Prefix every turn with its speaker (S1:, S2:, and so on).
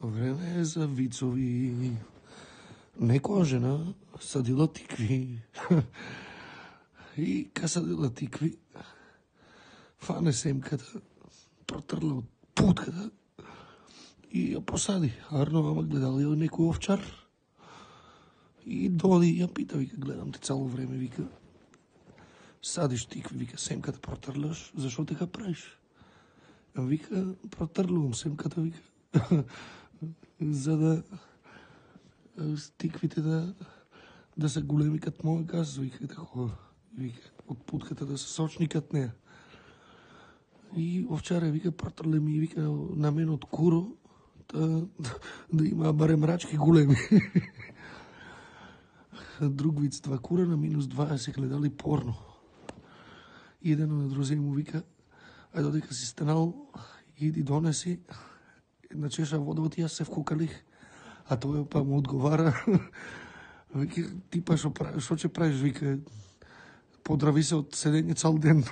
S1: Време е за вицови. Некоја жена садила тикви. И ка садила тикви, фане семката, протрла од путката и ја посади. Арно, ама гледал ја некој овчар. И доди ја пита, вика, гледам те цело време, вика, садиш тикви, вика, семката протрляш, зашо така правиш? Вика, протрлувам семката, вика, за да тиквите да се големи кат моја газ, вика, такова. Вика, од путката да се сочни кат неа. И овчаре, вика, протрле ми, вика, на мен од куро, да има барем рачки големи. Друг виц, 2 кура на -2 се гледали порно. И еден на друзе му вика, ајде додека си станал, иди донеси една чеша вода, ти јас се вкукалих. А тој па му одговара, вика, ти па шо ќе правиш, вика, подрави се од седење цел ден.